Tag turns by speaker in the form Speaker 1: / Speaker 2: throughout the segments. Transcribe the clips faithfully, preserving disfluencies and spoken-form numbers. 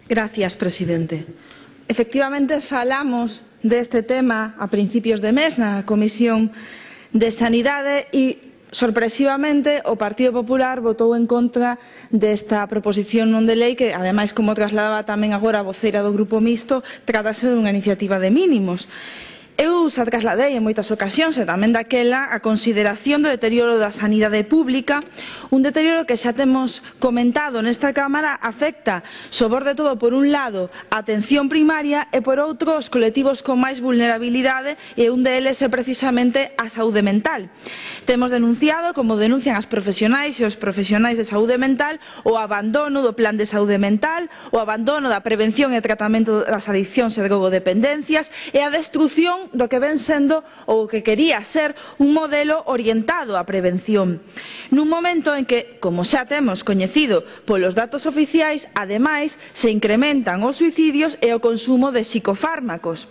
Speaker 1: Gracias, presidente. Efectivamente, falamos deste tema a principios de mes na Comisión de Sanidade e, sorpresivamente, o Partido Popular votou en contra desta proposición non de lei que, ademais, como trasladaba tamén agora a voceira do Grupo Mixto, tratase dunha iniciativa de mínimos. Eu xa trasladei en moitas ocasións e tamén daquela a consideración do deterioro da sanidade pública, un deterioro que xa temos comentado nesta Cámara afecta, sobre todo, por un lado, a atención primaria e por outro, os colectivos con máis vulnerabilidade, e un deles é precisamente a saúde mental. Temos denunciado, como denuncian as profesionais e os profesionais de saúde mental, o abandono do plan de saúde mental, o abandono da prevención e tratamento das adiccións e drogodependencias e a destrución do que ven sendo ou que quería ser un modelo orientado á prevención. Nun momento en que, como xa temos coñecido polos datos oficiais, ademais se incrementan os suicidios e o consumo de psicofármacos,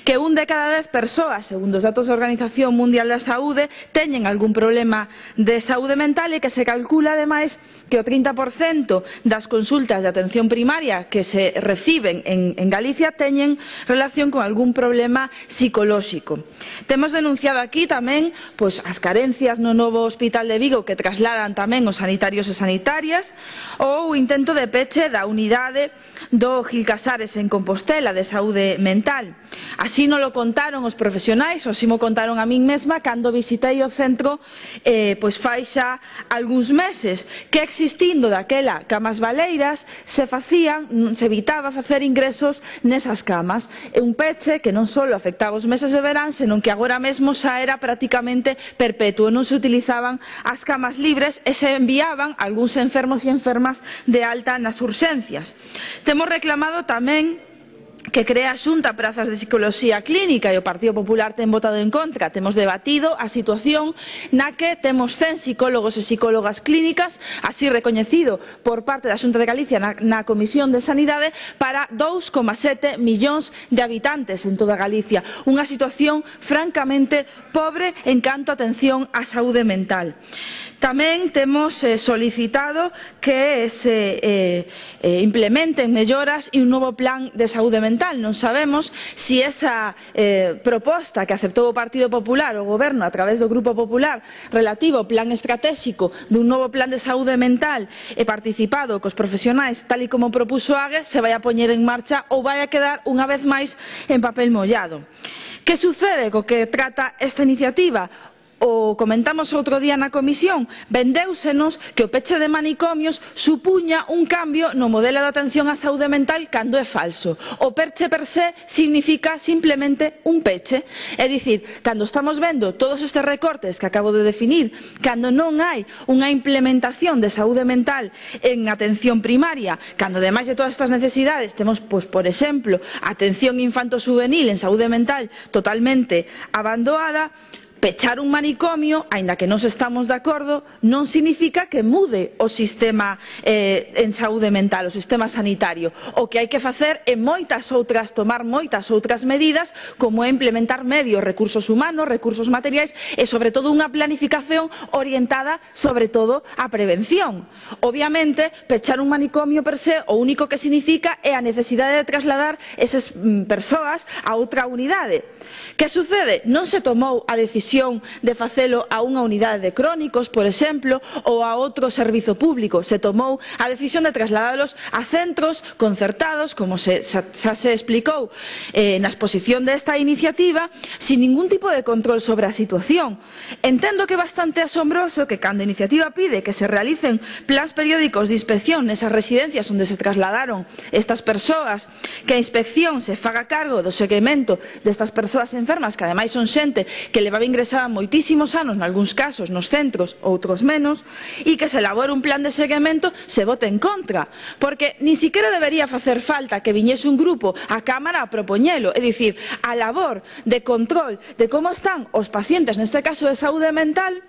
Speaker 1: que un de cada dez persoas, segundo os datos da Organización Mundial da Saúde, teñen algún problema de saúde mental e que se calcula ademais que o trinta por cento das consultas de atención primaria que se reciben en, en Galicia teñen relación con algún problema psicolóxico. Temos denunciado aquí tamén pois, as carencias no novo Hospital de Vigo que trasladan tamén os sanitarios e sanitarias, ou o intento de peche da unidade do Gil Casares en Compostela de saúde mental. Así non lo contaron os profesionais, ou así mo contaron a min mesma cando visitei o centro eh, pois fai xa algúns meses, que existindo daquela camas baleiras se facían, se evitaba facer ingresos nesas camas, e un peche que non só afectaba os meses de verán, senón que agora mesmo xa era prácticamente perpetuo, non se utilizaban as camas libres e se enviaban algúns enfermos e enfermas de alta nas urxencias. Temos reclamado tamén que crea a Xunta prazas de psicoloxía clínica e o Partido Popular ten votado en contra. Temos debatido a situación na que temos cen psicólogos e psicólogas clínicas, así recoñecido por parte da Xunta de Galicia na, na Comisión de Sanidade, para dous coma sete millóns de habitantes en toda Galicia. Unha situación francamente pobre en canto a atención á saúde mental. Tamén temos eh, solicitado que se eh, eh, implementen melloras e un novo plan de saúde mental. Non sabemos se esa eh, proposta que aceptou o Partido Popular, o Goberno, a través do Grupo Popular, relativo ao plan estratégico dun novo plan de saúde mental e participado cos profesionais, tal e como propuso Ague, se vai a poñer en marcha ou vai a quedar unha vez máis en papel mollado. Que sucede co que trata esta iniciativa? O comentamos outro día na comisión, vendéusenos que o peche de manicomios supuña un cambio no modelo de atención á saúde mental cando é falso. O peche per se significa simplemente un peche. É dicir, cando estamos vendo todos estes recortes que acabo de definir, cando non hai unha implementación de saúde mental en atención primaria, cando ademais de todas estas necesidades temos, pois, por exemplo, atención infanto-juvenil en saúde mental totalmente abandonada, pechar un manicomio, aínda que nos estamos de acordo, non significa que mude o sistema eh, en saúde mental, o sistema sanitario. O que hai que facer é moitas outras, tomar moitas outras medidas, como é implementar medios, recursos humanos, recursos materiais e, sobre todo, unha planificación orientada, sobre todo, á prevención. Obviamente, pechar un manicomio per se, o único que significa é a necesidade de trasladar esas mm, persoas a outra unidade. Que sucede? Non se tomou a decisión de facelo a unha unidade de crónicos, por exemplo, ou a outro servizo público. Se tomou a decisión de trasladalos a centros concertados, como se, xa, xa se explicou eh, na exposición desta iniciativa, sin ningún tipo de control sobre a situación. Entendo que é bastante asombroso que cando a iniciativa pide que se realicen plans periódicos de inspección nesas residencias onde se trasladaron estas persoas, que a inspección se faga cargo do seguimento destas persoas enfermas, que ademais son xente que levaba ingresada moitísimos anos, nalgúns casos, nos centros, outros menos, e que se elabore un plan de seguimento, se vote en contra. Porque nin siquiera debería facer falta que viñese un grupo á Cámara a propoñelo. É dicir, a labor de control de como están os pacientes, neste caso de saúde mental,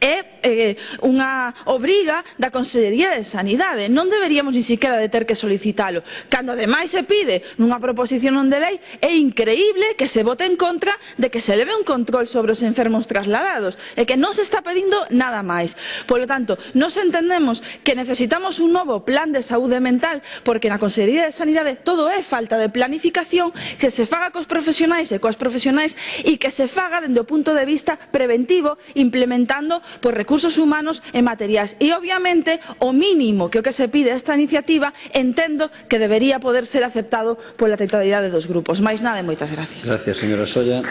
Speaker 1: é eh, unha obriga da Consellería de Sanidade. Non deberíamos ni siquiera de ter que solicitalo. Cando ademais se pide nunha proposición non de lei, é increíble que se vote en contra de que se leve un control sobre os enfermos trasladados e que non se está pedindo nada máis. Polo tanto, nos entendemos que necesitamos un novo plan de saúde mental porque na Consellería de Sanidade todo é falta de planificación, que se faga cos profesionais e coas profesionais e que se faga dende o punto de vista preventivo, implementando por recursos humanos e materiais. E obviamente o mínimo que o que se pide a esta iniciativa entendo que debería poder ser aceptado pola totalidade dos grupos. Máis nada e moitas gracias.
Speaker 2: Gracias, señora Solla.